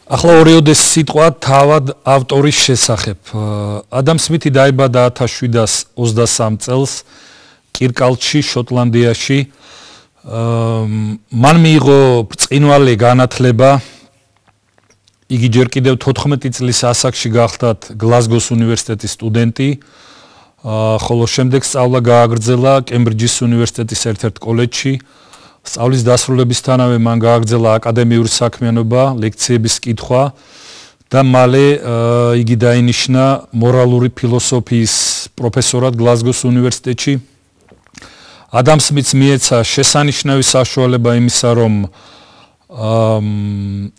ახლა ორიოდეს სიტყვა თავად ავტორის შესახებ. ადამ სმითი დაიბადა 1723 წელს კირკალდში, შოტლანდიაში. მან მიიღო ბრწყინვალე განათლება. იგი ჯერ კიდევ 14 წლის ასაკში გახლდათ გლაზგოს უნივერსიტეტის სტუდენტი. ხოლო შემდეგ სწავლა გააგრძელა კემბრიჯის უნივერსიტეტის ერთ-ერთ კოლეჯში. სწავლის დასრულებისთანავე მან გააგრძელა აკადემიური საქმიანობა, ლექციების კითხვა და მალე იგი დაინიშნა მორალური ფილოსოფიის პროფესორად გლაზგოს უნივერსიტეტში. ადამ სმითს მიეცა შესანიშნავი საშუალება იმისა, რომ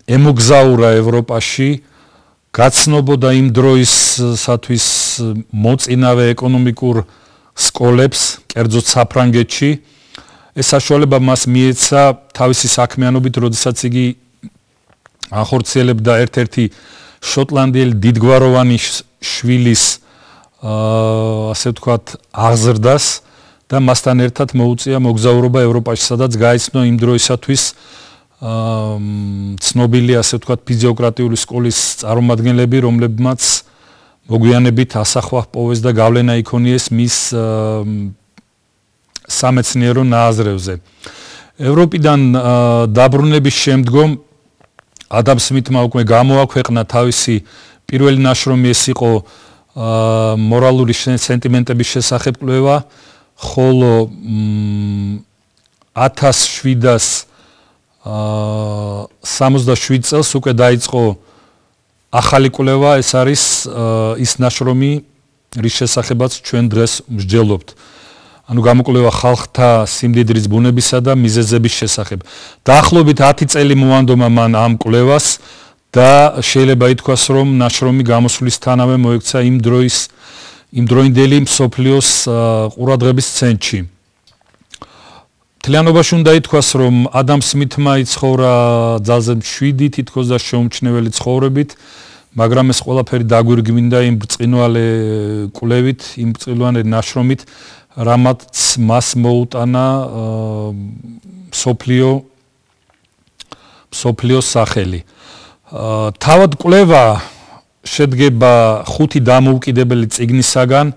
ემოგზაურა ევროპაში, გაცნობოდა იმ დროისათვის მოწინავე ეკონომიკურ სკოლებს, კერძოდ საფრანგეთში. ეს საშუალება მას მიეცა თავისი საქმიანობით, როდესაც იგი ახორციელებდა ერთ-ერთი შოტლანდიელი დიდგვაროვანი შვილის ასე ვთქვათ აღზრდას და მასთან ერთად მოუწია მოგზაურობა ევროპაში, სადაც გაიცნო იმ დროისათვის ცნობილი ასე ვთქვათ ფიზიოკრატიული სკოლის წარმომადგენლები, რომლებმაც მოგვიანებით ასახვა ჰპოვეს და გავლენა იქონიეს მის სამეცნიერო ნააზრევზე. ევროპიდან დაბრუნების შემდგომ ადამ სმითმა უკვე გამოაქვეყნა თავისი პირველი ნაშრომი, ეს იყო მორალური სენტიმენტების შესახებ კვლევა, ხოლო 1767 წელს უკვე დაიწყო ახალი კვლევა, ეს არის ის ნაშრომი, რის შესახებაც ჩვენ დღეს მსჯელობთ. ანუ გამოკვლევა ხალხთა სიმდიდრის ბუნებისა და მიზეზების შესახებ. დაახლოებით 10 წელი მოანდომა მან ამ კვლევას და შეიძლება ითქვას, რომ ნაშრომი გამოსვლისთანავე მოექცა იმ დროინდელი მსოფლიოს ყურადღების ცენტრში. მთლიანობაში უნდა ითქვას, რომ ადამ სმითმა იცხოვრა ძალზე მშვიდი, თითქოს და შეუმჩნეველი ცხოვრებით, მაგრამ ეს ყველაფერი დაგვირგვინდა იმ ბრწყინვალე კვლევით, იმ ბრწყინვალე ნაშრომით, რამაც მას მოუტანა მსოფლიოს სახელი. თავად კვლევა შედგება 5 დამოუკიდებელი წიგნისაგან.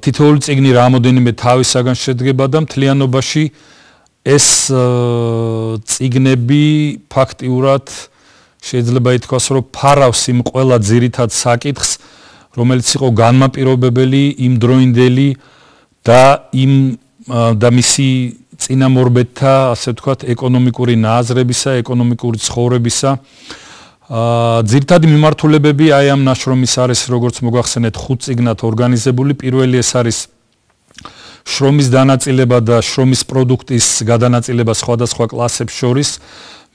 თითოეული წიგნი რამოდენიმე თავისაგან შედგება და მთლიანობაში ეს წიგნები ფაქტიურად შეიძლება ითქვას, რომ ფარავს იმ ყველა ძირითად საკითხს, რომელიც იყო განმაპირობებელი იმ დროინდელი და მისი წინამორბედთა, ასე ვთქვათ, ეკონომიკური ნააზრებისა, ეკონომიკური ცხოვრებისა. ძირითადი მიმართულებები აი ამ ნაშრომის არის, როგორც მოგახსენეთ, 5 წიგნად ორგანიზებული. პირველი ეს არის შრომის დანაწილება და შრომის პროდუქტის გადანაწილება სხვადასხვა კლასებს შორის.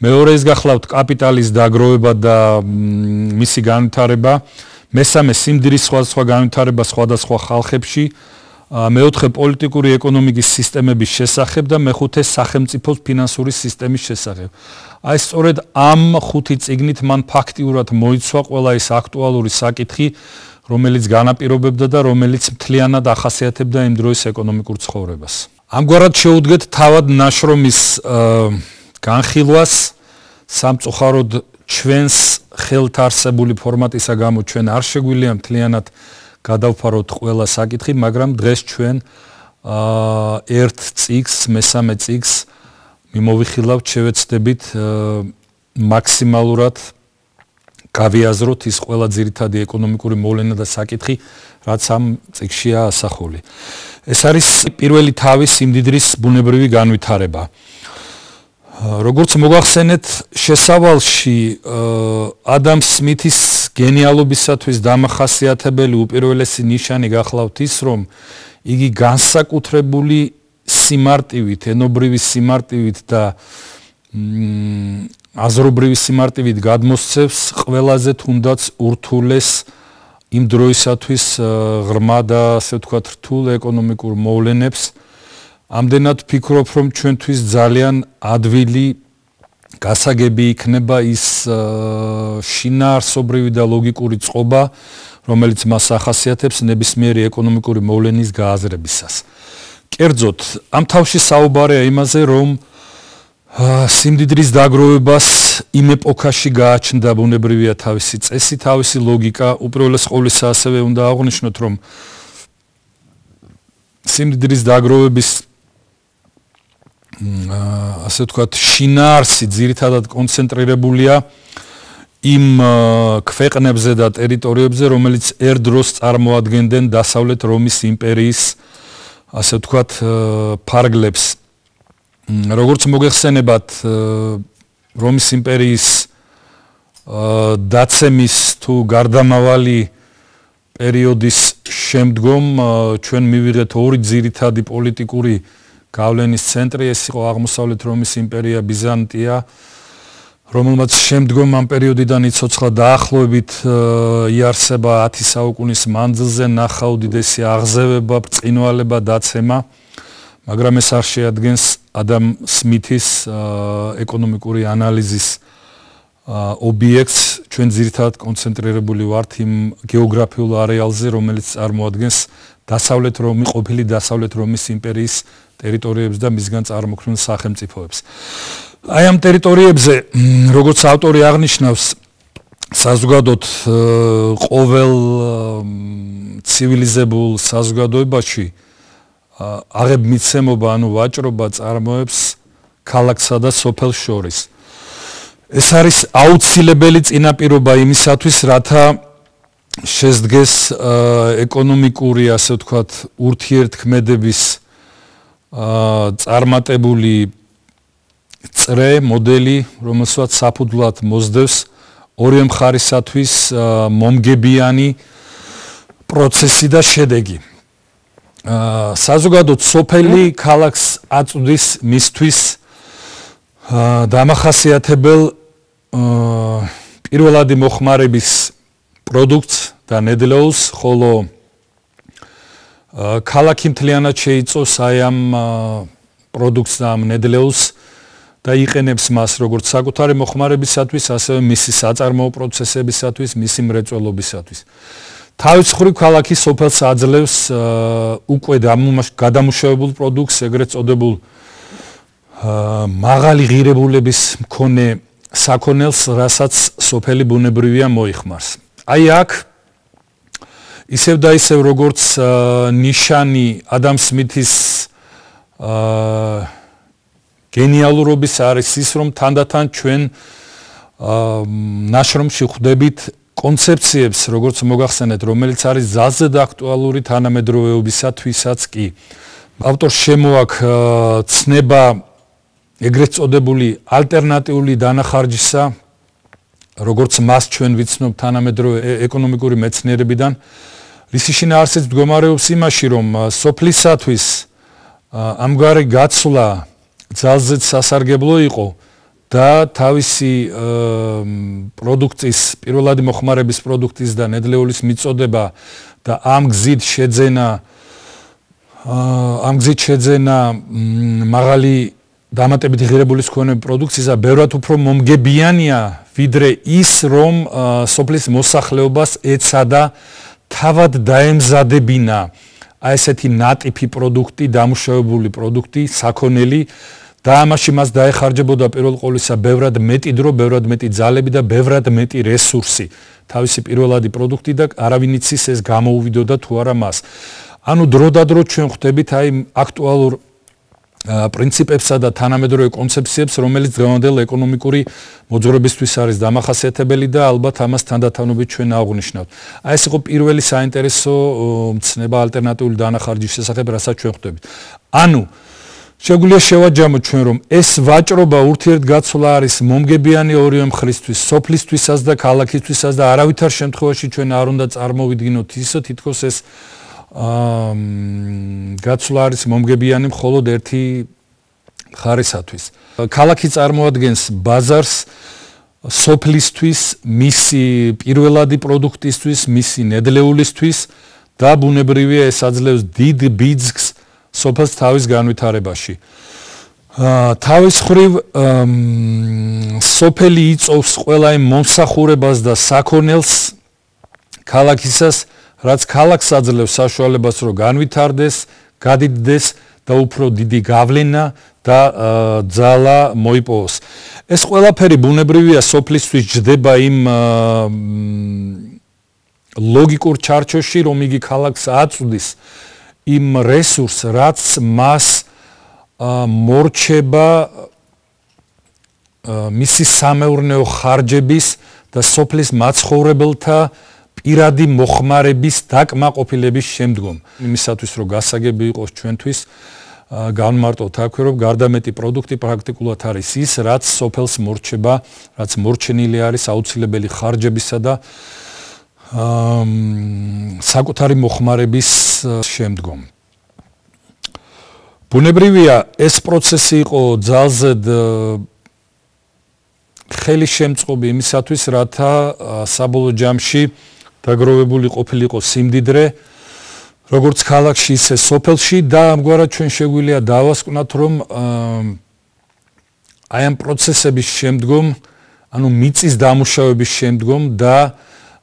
მეორე ის გახლავთ კაპიტალის დაგროვება და მისი განვითარება. მესამე სიმდიდრის სხვადასხვა განვითარება სხვადასხვა ხალხებში. მეოთხე პოლიტიკური ეკონომიკის სისტემების შესახებ და მეხუთე სახელმწიფოს ფინანსური სისტემის შესახებ. აი სწორედ ამ 5 წიგნით მან ფაქტიურად მოიცვა ყველა ის აქტუალური საკითხი, რომელიც განაპირობებდა და რომელიც მთლიანად ახასიათებდა იმ დროის ეკონომიკურ ცხოვრებას. ამგვარად შეუდგეთ თავად ნაშრომის განხილვას. სამწუხაროდ ჩვენს ხელთ არსებული ფორმატისა გამო ჩვენ არ შეგვიძლია მთლიანად გადავფაროთ ყველა საკითხი, მაგრამ დღეს ჩვენ ერთ წიგნს, მესამე წიგნს მიმოვიხილავთ, შევეცდებით მაქსიმალურად გავიაზროთ ის ყველა ძირითადი ეკონომიკური მოვლენა და საკითხი, რაც ამ წიგნშია ასახული. ეს არის პირველი თავის სიმდიდრის ბუნებრივი განვითარება. როგორც მოგახსენეთ, შესავალში ადამ სმითის გენიალობისათვის დამახასიათებელი უპირველესი ნიშანი გახლავთ ის, რომ იგი განსაკუთრებული სიმარტივით, ენობრივი სიმარტივით და აზრობრივი სიმარტივით გადმოსცემს ყველაზე თუნდაც ურთულეს იმ დროისათვის ღრმა და ასე ვთქვათ რთულ ეკონომიკურ მოვლენებს. ამდენად ვფიქრობ, რომ ჩვენთვის ძალიან ადვილი გასაგები იქნება ის შინაარსობრივი და ლოგიკური წყობა, რომელიც მას ახასიათებს ნებისმიერი ეკონომიკური მოვლენის გააზრებისას. კერძოდ, ამ თავში საუბარია იმაზე, რომ სიმდიდრის დაგროვებას იმ ეპოქაში გააჩნდა ბუნებრივია თავისი წესი, თავისი ლოგიკა. უპირველეს ყოვლისა ასევე უნდა აღვნიშნოთ, რომ სიმდიდრის დაგროვების ასე ვთქვათ, შინაარსი ძირითადად კონცენტრირებულია იმ ქვეყნებზე და ტერიტორიებზე, რომელიც ერთ დროს წარმოადგენდნენ დასავლეთ რომის იმპერიის ასე ვთქვათ ფარგლებს. როგორც მოგეხსენებათ, რომის იმპერიის დაცემის თუ გარდამავალი პერიოდის შემდგომ ჩვენ მივიღეთ ორი ძირითადი პოლიტიკური გავლენის ცენტრი, ეს იყო აღმოსავლეთ რომის იმპერია, ბიზანტია, რომელმაც შემდგომ ამ პერიოდიდან იცოცხლა დაახლოებით იარსება 10 საუკუნის მანძილზე, ნახა უდიდესი აღზევება, ბრწყინვალება, დაცემა, მაგრამ ეს არ შეადგენს ადამ სმითის ეკონომიკური ანალიზის ობიექტს. ჩვენ ძირითადად კონცენტრირებული ვართ იმ გეოგრაფიულ არეალზე, რომელიც წარმოადგენს ყოფილი დასავლეთ რომის იმპერიის ტერიტორიებს და მისგან წარმოქმნილ სახელმწიფოებს. აი ამ ტერიტორიებზე, როგორც ავტორი აღნიშნავს, საზოგადოდ ყოველ ცივილიზებულ საზოგადოებაში აღებმიცემობა, ანუ ვაჭრობა წარმოებს ქალაქსა და სოფელს შორის. ეს არის აუცილებელი წინაპირობა იმისათვის, რათა შესდგეს ეკონომიკური, ასე ვთქვათ, ურთიერთქმედების წარმატებული წრე, მოდელი, რომელსაც საფუძვლად მოსდევს ორივე მხარისათვის მომგებიანი პროცესი და შედეგი. საზოგადოდ სოფელი ქალაქს აწვდის მისთვის დამახასიათებელ პირველადი მოხმარების პროდუქტს და ნედლეულს, ხოლო ქალაქი მთლიანად შეიწოს აი ამ პროდუქტს და ამ ნედლეულს და იყენებს მას როგორც საკუთარი მოხმარებისათვის, ასევე მისი საწარმოო პროცესებისათვის, მისი მრეწველობისათვის. თავის მხრივ ქალაქი სოფელს აძლევს უკვე გადამუშავებულ პროდუქტს, ეგრეთ წოდებულ მაღალი ღირებულების მქონე საქონელს, რასაც სოფელი ბუნებრივია მოიხმარს. აი აქ ისევ და ისევ როგორც ნიშანი ადამ სმითის გენიალურობის არის ის, რომ თანდათან ჩვენ ნაშრომში ხვდებით კონცეფციებს, როგორც მოგახსენეთ, რომელიც არის ძალზედ აქტუალური თანამედროვეობისათვისაც კი. ავტორს შემოაქვს ცნება ეგრეთ წოდებული ალტერნატიული დანახარჯისა, როგორც მას ჩვენ ვიცნობ თანამედროვე ეკონომიკური მეცნიერებიდან, რისი შინაარსიც მდგომარეობს იმაში, რომ სოფლისათვის ამგვარი გაცვლა ძალზედ სასარგებლო იყო და თავისი პროდუქტის, პირველადი მოხმარების პროდუქტის და ნედლეულის მიწოდება და ამ გზით შეძენა მაღალი დამატებითი ღირებულის მქონე პროდუქცია ბევრად უფრო მომგებიანია, ვიდრე ის, რომ სოფლის მოსახლეობას ეცადა თავად დაემზადებინა აი ესეთი ნატიფი პროდუქტი, დამუშავებული პროდუქტი, საქონელი და ამაში მას დაეხარჯებოდა პირველ ყოვლისა ბევრად მეტი დრო, ბევრად მეტი ძალები და ბევრად მეტი რესურსი. თავისი პირველადი პროდუქტი და არავინ იცის ეს გამოუვიდოდა თუ არა მას. ანუ დროდადრო ჩვენ ხვდებით აი აქტუალურ პრინციპებსა და თანამედროვე კონცეფციებს, რომელიც დღევანდელ ეკონომიკური მოძღვრებისთვის არის დამახასიათებელი და ალბათ ამას თანდათანობით ჩვენ აღვნიშნავთ. აი ეს იყო პირველი საინტერესო მცნება ალტერნატიული დანახარჯის შესახებ, რასაც ჩვენ ხვდებით. ანუ შეგვიძლია შევაჯამოთ ჩვენ, რომ ეს ვაჭრობა ურთიერთგაცვლა არის მომგებიანი ორივე მხრისთვის, სოფლისთვისაც და ქალაქისთვისაც და არავითარ შემთხვევაში ჩვენ არ უნდა წარმოვიდგინოთ ისო, თითქოს ეს გაცვლა არის მომგებიანი მხოლოდ ერთი მხარისათვის. ქალაქი წარმოადგენს ბაზარს სოფლისთვის, მისი პირველადი პროდუქტისთვის, მისი ნედლეულისთვის და ბუნებრივია ეს აძლევს დიდ ბიძგს სოფელს თავის განვითარებაში. თავის მხრივ სოფელი იწოვს ყველა იმ მომსახურებას და საქონელს ქალაქისას, რაც ქალაქს აძლევს საშუალებას, რომ განვითარდეს, გადიდდეს და უფრო დიდი გავლენა და ძალა მოიპოვოს. ეს ყველაფერი ბუნებრივია სოფლისთვის ჯდება იმ ლოგიკურ ჩარჩოში, რომ იგი ქალაქს აწვდის იმ რესურსს, რაც მას მორჩება მისი სამეურნეო ხარჯების და სოფლის მაცხოვრებელთა პირადი მოხმარების დაკმაყოფილების შემდგომ. იმისათვის რომ გასაგები იყოს ჩვენთვის, განმარტოთ აქვე, რომ გარდამეტი პროდუქტი პრაქტიკულად არის ის, რაც სოფელს მორჩება, რაც მორჩენილი არის აუცილებელი ხარჯებისა და საკუთარი მოხმარების შემდგომ. ბუნებრივია, ეს პროცესი იყო ძალზედ ხელისშემწყობი იმისათვის, რათა საბოლოო ჯამში დაგროვებული ყოფილიყო სიმდიდრე, როგორც ქალაქში, ისე სოფელში და ამგვარად ჩვენ შეგვიძლია დავასკვნათ, რომ აი ამ პროცესების შემდგომ, ანუ მიწის დამუშავების შემდგომ და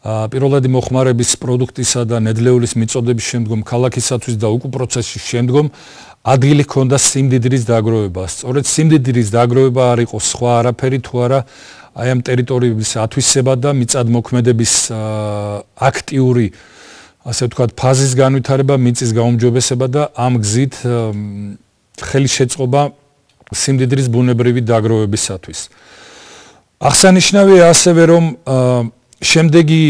პირველადი მოხმარების პროდუქტისა და ნედლეულის მიწოდების შემდგომ ქალაქისათვის და უკუ პროცესის შემდგომ ადგილი ჰქონდა სიმდიდრის დაგროვებას. სწორედ სიმდიდრის დაგროვება არ იყო სხვა არაფერი თუ არა აი ამ ტერიტორიების ათვისება და მიწადმოქმედების აქტიური, ასე ვთქვათ, ფაზის განვითარება, მიწის გაუმჯობესება და ამ გზით ხელისშეწყობა სიმდიდრის ბუნებრივი დაგროვებისათვის. აღსანიშნავია ასევე, რომ შემდეგი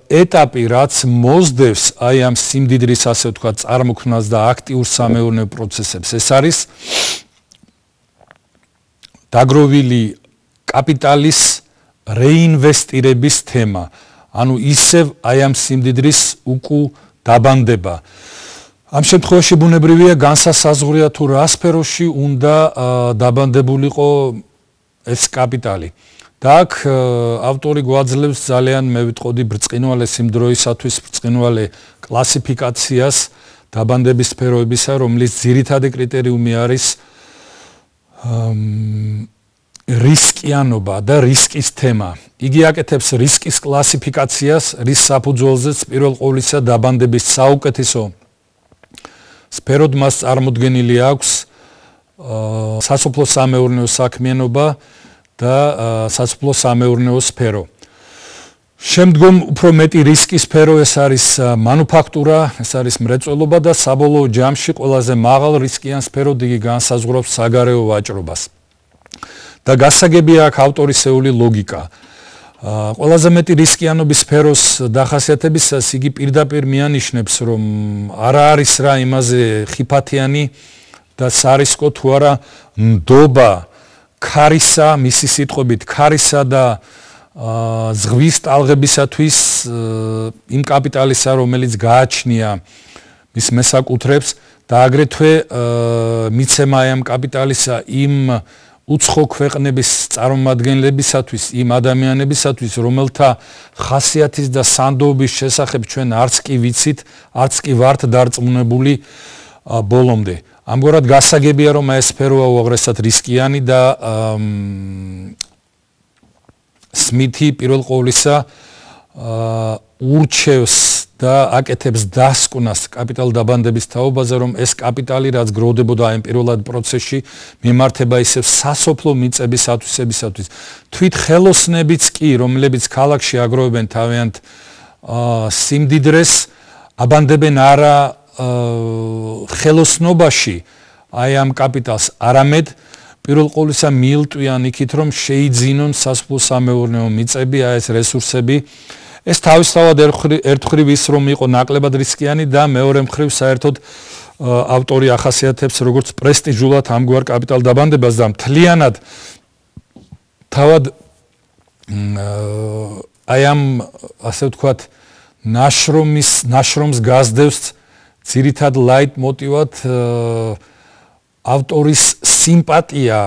ეტაპი, რაც მოსდევს აი ამ სიმდიდრის, ასე ვთქვათ, წარმოქმნას და აქტიურ სამეურნეო პროცესებს, ეს არის დაგროვილი კაპიტალის რეინვესტირების თემა. ანუ ისევ აი ამ სიმდიდრის უკუ დაბანდება. ამ შემთხვევაში ბუნებრივია განსასაზღვრია თუ რა სფეროში უნდა დაბანდებულიყო ეს კაპიტალი. და აქ ავტორი გვაძლევს ძალიან მე ვიტყოდი ბრწყინვალე სიმდროისათვის ბრწყინვალე კლასიფიკაციას დაბანდების სფეროებისა, რომლის ძირითადი კრიტერიუმი არის რისკიანობა და რისკის თემა. იგი აკეთებს რისკის კლასიფიკაციას, რის საფუძველზეც პირველ ყოვლისა დაბანდების საუკეთესო სფეროდ მას წარმოდგენილი აქვს სასოფლო სამეურნეო საქმიანობა და სასოფლო სამეურნეო სფერო. შემდგომ უფრო მეტი რისკის სფერო ეს არის მანუფაქტურა, ეს არის მრეწველობა და საბოლოო ჯამში ყველაზე მაღალ რისკიან სფეროდ იგი განსაზღვრავს საგარეო ვაჭრობას. და გასაგებია აქ ავტორისეული ლოგიკა. ყველაზე მეტი რისკიანობის სფეროს დახასიათებისას იგი პირდაპირ მიანიშნებს, რომ არა არის რა იმაზე ხიფათიანი და სარისკო თუ არა ნდობა ქარისა, მისი სიტყვებით ქარისა და ზღვის ტალღებისათვის იმ კაპიტალისა, რომელიც გააჩნია მის მესაკუთრებს და აგრეთვე მიცემა ამ კაპიტალისა იმ უცხო ქვეყნების წარმომადგენლებისათვის, იმ ადამიანებისათვის, რომელთა ხასიათის და სანდოობის შესახებ ჩვენ არც კი ვიცით, არც კი ვართ დარწმუნებული ბოლომდე. ამგვარად გასაგებია, რომ ეს სფეროა უაღრესად რისკიანი და სმითი პირველ ყოვლისა ურჩევს და აკეთებს დასკვნას კაპიტალ დაბანდების თაობაზე, რომ ეს კაპიტალი, რაც გროვდებოდა აი პირველად პროცესში, მიმართება ისევ სასოფლო მიწების ათვისებისათვის. თვით ხელოსნებიც კი, რომლებიც ქალაქში აგროვებენ თავიანთ სიმდიდრეს, აბანდებენ არა ხელოსნობაში აი ამ კაპიტალს, არამედ პირველ ყოვლისა მიილტვიან იქით, რომ შეიძინონ სასოფლო სამეურნეო მიწები, აი ეს რესურსები. ეს თავისთავად ერთ მხრივ ის რომ იყო ნაკლებად რისკიანი და მეორე მხრივ საერთოდ ავტორი ახასიათებს როგორც პრესტიჟულად ამგვარ კაპიტალ დაბანდებას და მთლიანად თავად აი ამ ასე ვთქვათ ნაშრომს გასდევს ძირითად ლაით მოტივად ავტორის სიმპათია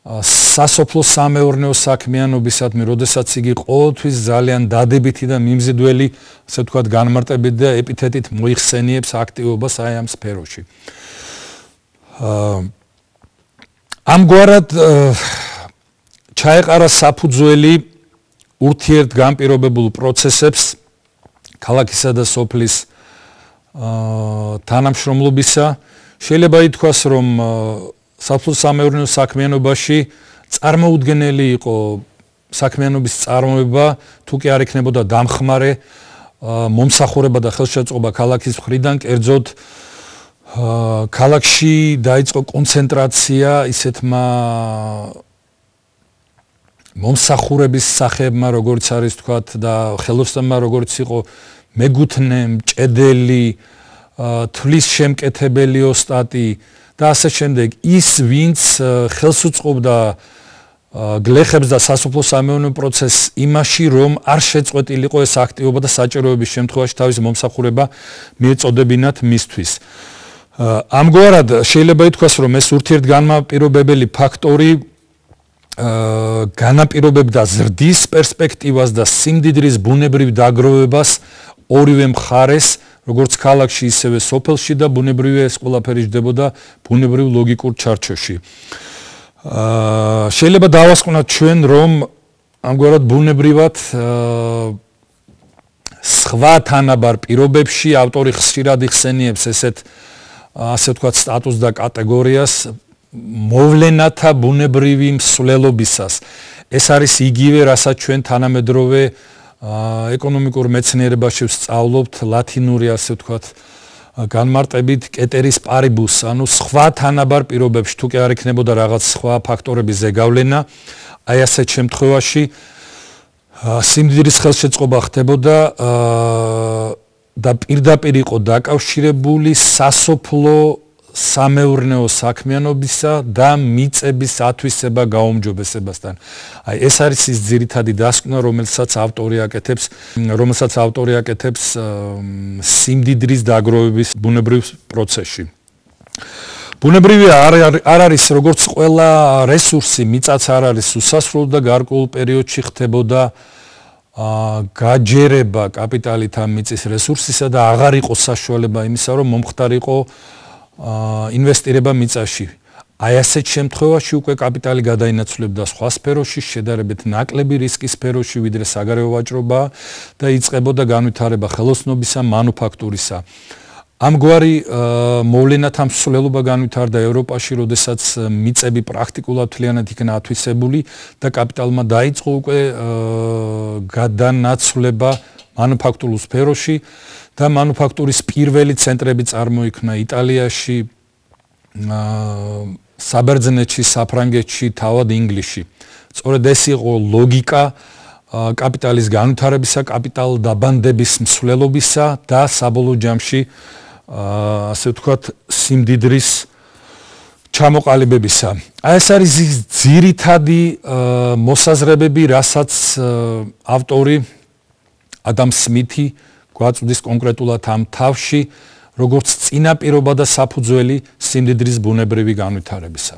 სასოფლო სამეურნეო საქმიანობისადმი, როდესაც იგი ყოველთვის ძალიან დადებითი და მიმზიდველი, ასე ვთქვათ, განმარტებით და ეპითეტით მოიხსენიებს აქტივობას აი ამ სფეროში. ამგვარად ჩაეყარა საფუძველი ურთიერთგანპირობებულ პროცესებს ქალაქისა და სოფლის თანამშრომლობისა შეიძლება ითქვას, რომ საფულო-სამეურნეო საქმიანობაში წარმოუდგენელი იყო საქმიანობის წარმოება, თუ კი არ იქნებოდა დამხმარე მომსახურება და ხელშეწყობა ქალაქის მხრიდან, კერძოდ ქალაქში დაიწყო კონცენტრაცია ისეთმა მომსახურების სახეებმა, როგორც არის თქვათ და ხელოსნებმა, როგორც იყო მეგუთნე, მჭედელი, თვლის შემკეთებელი ოსტატი და ასე შემდეგ. ის, ვინც ხელს უწყობდა გლეხებს და სასოფლო-სამეურნეო პროცესს იმაში, რომ არ შეწყვეტილიყო ეს აქტივობა და საჭიროების შემთხვევაში თავის მომსახურება მიეწოდებინათ მისთვის. ამგვარად შეიძლება ითქვას, რომ ეს ურთიერთგანმაპირობებელი ფაქტორი განაპირობებდა ზრდის პერსპექტივას და სიმდიდრის ბუნებრივ დაგროვებას ორივე მხარეს, როგორც ქალაქში, ისევე სოფელში და ბუნებრივია ეს ყველაფერი ჯდებოდა ბუნებრივ ლოგიკურ ჩარჩოში. შეიძლება დავასკვნათ ჩვენ, რომ ამგვარად ბუნებრივად სხვა თანაბარ პირობებში ავტორი ხშირად იხსენიებს ასე ვთქვათ სტატუსს და კატეგორიას მოვლენათა ბუნებრივი მსვლელობისას. ეს არის იგივე, რასაც ჩვენ თანამედროვე ეკონომიკურ მეცნიერებაში ვსწავლობთ ლათინური ასე ვთქვათ განმარტებით კეტერის პარიბუს, ანუ სხვა თანაბარ პირობებში თუ კი არ იქნებოდა რაღაც სხვა ფაქტორების ზეგავლენა, აი ასეთ შემთხვევაში სიმდიდრის ხელშეწყობა ხდებოდა და პირდაპირ იყო დაკავშირებული სასოფლო სამეურნეო საქმიანობისა და მიწების ათვისება გაუმჯობესებასთან. აი ეს არის ის ძირითადი დასკვნა, რომელსაც ავტორი აკეთებს სიმდიდრის დაგროვების ბუნებრივ პროცესში. ბუნებრივია არ არის როგორც ყველა რესურსი, მიწაც არ არის უსასრულო და გარკვეულ პერიოდში ხდებოდა გაჯერება კაპიტალით ამ მიწის რესურსისა და აღარ იყო საშუალება იმისა, რომ მომხდარიყო ინვესტირება მიწაში. აი ასეთ შემთხვევაში უკვე კაპიტალი გადაინაცვლებდა სხვა სფეროში, შედარებით ნაკლები რისკის სფეროში, ვიდრე საგარეო ვაჭრობა და იწყებოდა განვითარება ხელოსნობისა, მანუფაქტურისა. ამგვარი მოვლენათა მსვლელობა განვითარდა ევროპაში, როდესაც მიწები პრაქტიკულად მთლიანად იქნა ათვისებული და კაპიტალმა დაიწყო უკვე გადანაცვლება მანუფაქტურულ სფეროში და მანუფაქტურის პირველი ცენტრები წარმოიქმნა იტალიაში, საბერძნეთში, საფრანგეთში, თავად ინგლისში. სწორედ ეს იყო ლოგიკა კაპიტალის განვითარებისა, კაპიტალ დაბანდების მსვლელობისა და საბოლოო ჯამში ასე ვთქვათ სიმდიდრის ჩამოყალიბებისა. აი ეს არის ძირითადი მოსაზრებები, რასაც ავტორი ადამ სმითი გვაწვდის კონკრეტულად ამ თავში, როგორც წინაპირობა და საფუძველი სიმდიდრის ბუნებრივი განვითარებისა.